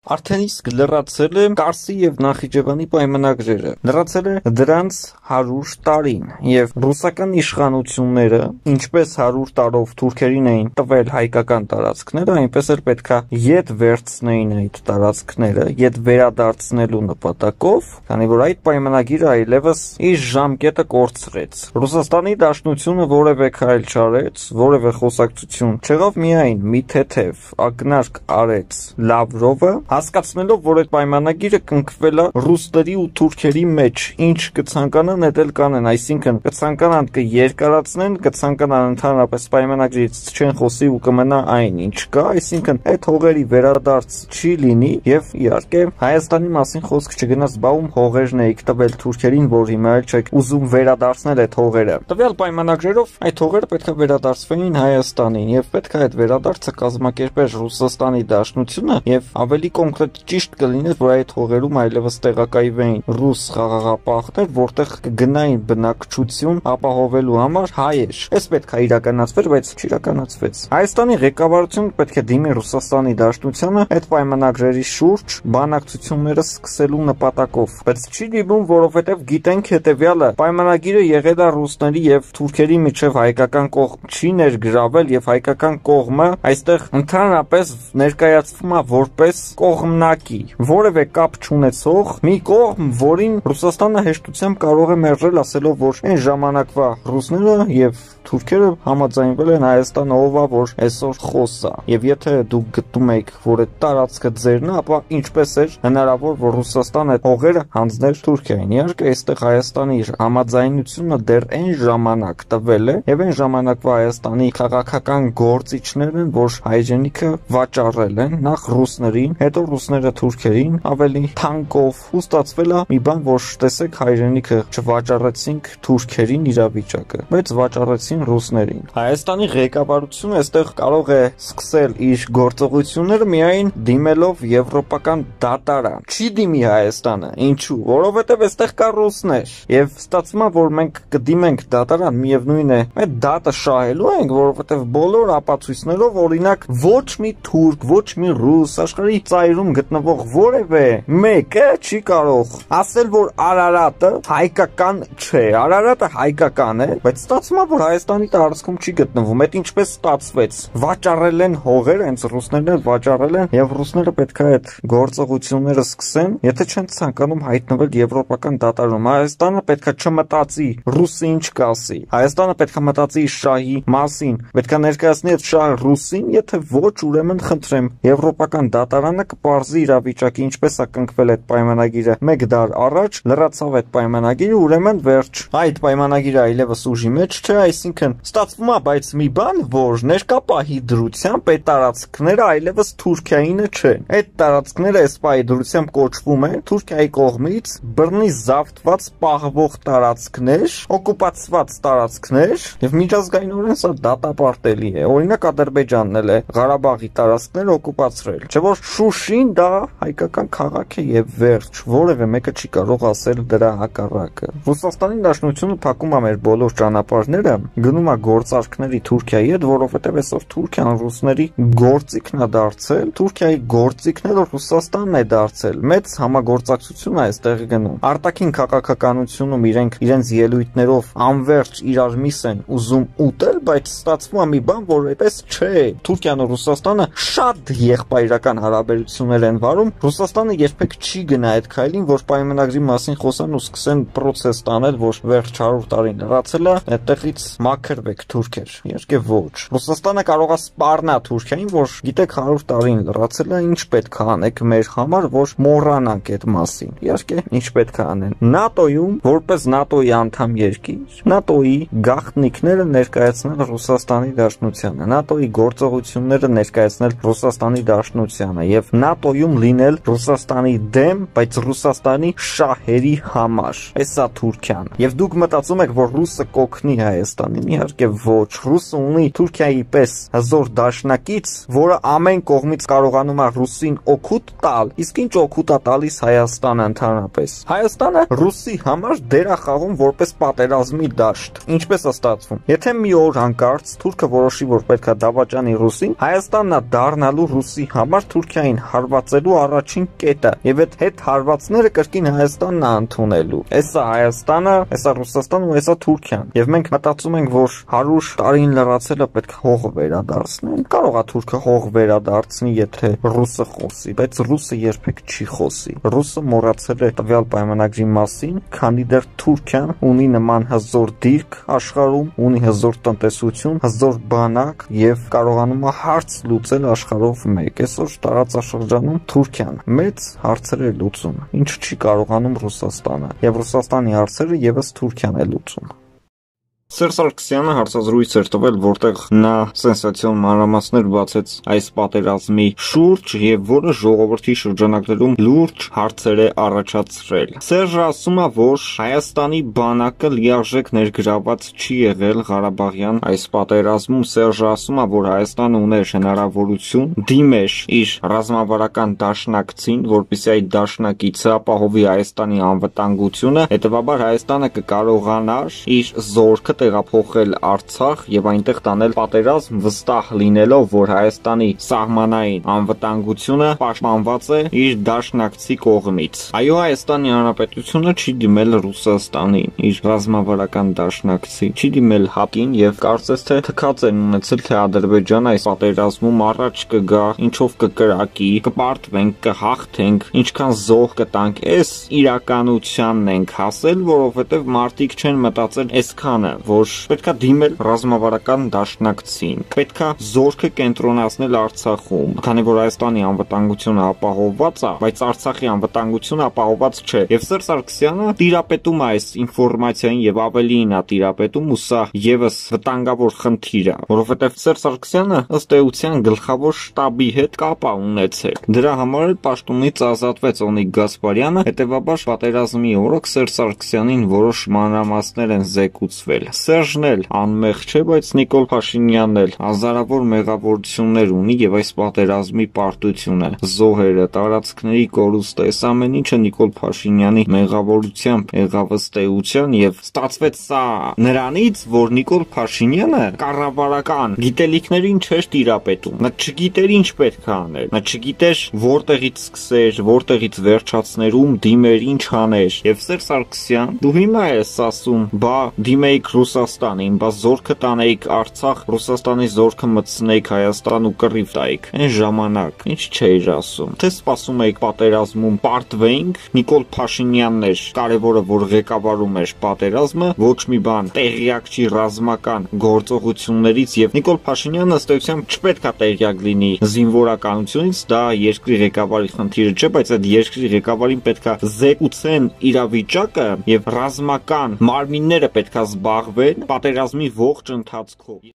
Արդեն իսկ լրացել է Կարսի եւ Նախիջևանի պայմանագրերը։ Լրացել է դրանց 100 տարին եւ ռուսական իշխանությունները, ինչպես 100 տարով թուրքերին էին տվել հայկական տարածքները, այնպես էլ պետքա ետ վերցնեին այդ տարածքները, ետ վերադարձնելու նպատակով, քանի որ այդ պայմանագիրը այլևս իր ժամկետը կորցրեց։ Ռուսաստանի Դաշնությունը որևէ քայլ չարեց, որևէ խոսակցություն չեղավ, միայն մի թեթև ակնարկ արեց Լավրովը, հասկացնելով, որ այդ պայմանագիրը կնքվել է ռուսների ու թուրքերի մեջ, ինչ կցանկանան էլ կանեն, այսինքն կցանկանան կերկարացնեն, կցանկանան ընդհանրապես պայմանագրից չեն խոսի ու կմնա այն ինչ կա, այսինքն այդ հողերի վերադարձ չի լինի եւ իհարկե Հայաստանի մասին խոսք չգնաց, բաում հողերն էիք տվել թուրքերին, որ հիմա էլ չեք ուզում վերադարձնել այդ հողերը։ Տվյալ պայմանագրերով այդ հողերը պետք է վերադարձվեին Հայաստանին եւ պետք է այդ վերադարձը կազմակերպեր Ռուսաստանի Դաշնությունը եւ ավելի կոնկրետ ճիշտ կլիներ, որ այդ հողերում այլևս տեղակայվեին ռուս խաղաղապահներ, որտեղ կգնային բնակչություն ապահովելու համար հայեր։ Այս պետք է իրականացվեր, բայց չիրականացվեց։ Հայաստանի ղեկավարությունը պետք է դիմի Ռուսաստանի Դաշնությանը այդ պայմանագրերի շուրջ բանակցությունները սկսելու նպատակով, բայց չի դիմում, որովհետեւ գիտենք հետեւյալը, պայմանագիրը եղել է ռուսների եւ թուրքերի միջև հայկական կողմ չի ներգրավել եւ հայկական կողմը այստեղ ընդհանրապես ներկայացվում է որպես կողմնակի, որևէ կապ չունեցող մի կողմ, որին Ռուսաստանը հեշտությամբ կարող է մերժել, ասելով, որ այն ժամանակվա ռուսները եւ թուրքերը համաձայնվել են Հայաստանը ով է, որ այսօր խոսա։ Եվ եթե դուք գտնում եք, որ այդ տարածքը ձերն է, ապա ինչպես էր հնարավոր, որ Ռուսաստանը այդ հողերը հանձներ Թուրքիային։ Իհարկե, այստեղ Հայաստանի համաձայնությունը դեռ այն ժամանակ տվել է, եւ այն ժամանակվա Հայաստանի քաղաքական գործիչներն են, որ հայրենիքը վաճառել են նախ ռուսներին, հետո ռուսները թուրքերին, ավելի թանկով ու ստացվել է մի բան, որ տեսեք հայրենիքը չվաճառեցինք թուրքերին իրավիճակը, բայց վաճառեցին ռուսներին։ Հայաստանի ղեկավարությունը այստեղ կարող է սկսել իր գործողությունները միայն դիմելով եվրոպական դատարան։ Չի դիմի Հայաստանը, ինչու՞, որովհետև այստեղ կա ռուսներ, եւ ստացվում է, որ մենք կդիմենք դատարան, միևնույն է, այդ դատը շահելու ենք, որովհետև բոլոր ապացույցներով օրինակ ոչ մի թուրք, ոչ մի ռուս, աշխարհի ծայրում գտնվող որևէ մեկը չի կարող ասել, որ Արարատը հայկական չէ, Արարատը հայկական է, բայց ստացվում է, որ Հայաստանի տարածքում չի գտնվում, այդ ինչպես ստացվեց, վաճառել են հողեր, հենց ռուսներն էլ վաճառել են, եւ ռուսները պետք է այդ գործողությունները սկսեն, եթե չեն ցանկանում հայտնվել եվրոպական դատարանում, Հայաստանը պետք է չմտածի ռուսի ինչ կասի, Հայաստանը պետք է մտածի շահի մասին, պետք է ներկայացնի այդ շահը ռուսին, եթե ոչ, ուրեմն խնդրեմ, եվրոպական դատարանը կպարզի իրավիճակը, ինչպես է կնքվել այդ պայմանագիրը 1 դար առաջ, լրացավ այդ պայմանագիրը, ուրեմն վերջ։ Այդ պայմանագիրը այլևս ուժի մեջ չէ, այսինքն ստացվում է, բայց մի բան, որ ներկա պահի դրությամբ այդ տարածքները այլևս Թուրքիայինը չեն։ Այդ տարածքները այս պահի դրությամբ կոչվում են Թուրքիայի կողմից բռնի զավթված պահվող տարածքներ, օկուպացված տարածքներ, եւ միջազգայինորեն սա դատապարտելի է։ Օրինակ Ադրբեջանն էլ է Ղարաբաղի տարածքները օկուպացրել։ Չէ՞ որ Շուշին դա հայկական քաղաք է եւ վերջ, որևէ մեկը չի կարող ասել դրա հակառակը։ Ռուսաստանի Դաշնությունը փակում է մեր բոլոր ճանապարհները, գնում է գործարքների Թուրքիայի հետ, որովհետեւ այսօր Թուրքիան ռուսների գործիքն է դարձել, Թուրքիայի գործիքն էլ Ռուսաստանն է դարձել։ Մեծ համագործակցություն է այստեղ գնում։ Արտաքին քաղաքականությունում իրենց ելույթներով անverջ իրար միս են ուզում ուտել, բայց ստացվում է մի բան, որ այդպես չէ։ Թուրքիան ու Ռուսաստանը շատ եղբայրական հարաբերություններ են վարում։ Ռուսաստանը երբեք չի գնա այդ քայլին, որ պայմանագրի մասին խոսան ու սկսեն process տանել, որ վերջ 100 տարին լրացել է, այդտեղից մաքրվեք թուրքեր։ Իհարկե ոչ։ Ռուսաստանը կարող է սպառնա Թուրքիային, որ գիտեք 100 տարին լրացել է, ինչ պետք է անեք մեր համար, որ մոռանանք այդ մասին։ Իհարկե, ինչ պետք է անեն։ ՆԱՏՕ-ում, որպես ՆԱՏՕ-ի անդամ երկիր, ՆԱՏՕ-ի գաղտնիքները ներկայացնել Ռուսաստանի Դաշնությանը, ՆԱՏՕ-ի գործողությունները ներկայացնել Ռուսաստանի Դաշնությանը եւ ՆԱՏՕ-ում լինել Ռուսաստանի դեմ, բայց Ռուսաստանի շահերի համար։ Էսա Թուրքիան։ Եվ դուք մտածում եք, որ ռուսը կօգնի Հայաստանին, իհարկե ոչ։ Ռուսը ունի Թուրքիայի պես հզոր դաշնակից, որը ամեն կողմից կարողանում է ռուսին օգուտ տալ, իսկ ինչ օգուտ է տալիս Հայաստանը ընդհանրապես։ Հայաստանը ռուսի համար դեր է խաղում որպես պատերազմի դաշտ։ Ինչպես է ստացվում։ Եթե մի օր հանկարծ թուրքը որոշի, որ պետք է դավաճանի ռուսին, Հայաստանն է դառնալու ռուսի համար Թուրքիային հարվածելու առաջին կետը, եւ այդ հետ հարվածները կրկին Հայաստանն է ընդունելու։ Էսա Հայաստանը, էսա Ռուսաստանը ու էսա Թուրքիան։ Եվ մենք մտածում ենք, որ 100 տարին լրացելը պետք է հողը վերադարձնեն։ Կարող է թուրքը հող վերադարձնի, եթե ռուսը խոսի, բայց ռուսը երբեք չի խոսի։ Ռուսը մոռացել է տվյալ պայմանագրի մասին, քանի դեռ Թուրքիան ունի նման հզոր դիրք աշխարհում, ունի հզոր տնտեսություն, հզոր բանակ եւ կարողանում է հարց լուծել աշխարհով մեկ։ Այսօր տարածաշրջանում Թուրքիան մեծ հարցեր է լուծում, ինչը չի կարողանում Ռուսաստանը, եւ Ռուսաստանի հարցերը եւս Թուրքիան է լուծում։ Սերժ Սարգսյանը հարցազրույց էր տվել, որտեղ նա սենսացիոն մանրամասներ բացեց այս պատերազմի շուրջ եւ որը ժողովրդի շրջանակներում լուրջ հարցեր է առաջացրել։ Սերժը ասում է, որ Հայաստանի բանակը լիարժեք ներգրաված չի եղել Ղարաբաղյան այս պատերազմում։ Սերժը ասում է, որ Հայաստանը ուներ հնարավորություն դիմեր իր ռազմավարական դաշնակցին, որպեսզի այդ դաշնակիցը ապահովի Հայաստանի անվտանգությունը, հետեւաբար Հայաստանը կկարողանար իր զորքը տեղափոխել Արցախ եւ այնտեղ տանել պատերազմ, վստահ լինելով, որ Հայաստանի սահմանային անվտանգությունը պաշտպանված է իր դաշնակցի կողմից։ Այո, Հայաստանի Հանրապետությունը չի դիմել Ռուսաստանին, իր ռազմավարական դաշնակցի, չի դիմել ՀԱՊԿ-ին եւ կարծես թե թքած են ունեցել, թե Ադրբեջանը այս պատերազմում առաջ կգա, ինչով կկրակի, կպարտվենք, կհաղթենք, ինչքան զոհ կտանք։ Այս իրականությանն ենք հասել, որովհետեւ մարդիկ չեն մտածել այսքանը, որ պետքա դիմել ռազմավարական դաշնակցին, պետքա զորքը կենտրոնացնել Արցախում, քանի որ Հայաստանի անվտանգությունը ապահովված է, բայց Արցախի անվտանգությունը ապահովված չէ։ Եվ Սերժ Սարգսյանը տիրապետում է այս ինֆորմացիային եւ ավելին է տիրապետում, ու սա եւս վտանգավոր խնդիր է, որովհետեւ Սերժ Սարգսյանը ըստ էության գլխավոր շտաբի հետ կապ է ունեցել։ Դրա համար էլ պաշտոնից ազատվեց Օնիկ Գասպարյանը, հետեւաբար պատերազմի օրոք Սերժ Սարգսյանին որոշ մանրամասներ են զեկուցվել։ Սերժն էլ անմեղ չէ, բայց Նիկոլ Փաշինյանն էլ հազարավոր մեղավորություններ ունի եւ այս պատերազմի պարտությունը, զոհերը, տարածքների կորուստը, այս ամեն ինչը Նիկոլ Փաշինյանի մեղավորությամբ եղավ ըստ էության եւ ստացվեց սա նրանից, որ Նիկոլ Փաշինյանը կառավարական գիտելիքներին չէր տիրապետում։ Նա չգիտեր ինչ պետք է աներ, նա չգիտեր որտեղից սկսեր, որտեղից վերջացներ, ում դիմեր, ինչ աներ։ Եվ Սերժ Սարգսյան, դու հիմա ես ասում, բա դիմեիք Ռուսաստանին, բա զորքը տանեիք Արցախ, Ռուսաստանի զորքը մտցնեիք Հայաստան ու կռիվ տայիք։ Այն ժամանակ ինչ չէիր ասում։ Թե սպասում էիք պատերազմում պարտվեինք, Նիկոլ Փաշինյանն էր կարևորը, որ ղեկավարում էր պատերազմը, ոչ մի բան տեղյակ չի ռազմական գործողություններից եւ Նիկոլ Փաշինյանը ըստ էության չպետք է տեղյակ լինի զինվորականությունից, դա երկրի ղեկավարի խնդիրը չէ, բայց այդ երկրի ղեկավարին պետք է զեկուցեն իրավիճակը եւ ռազմական մարմինները պետք է զբաղվեն պատերազմի ողջ ընթացքով։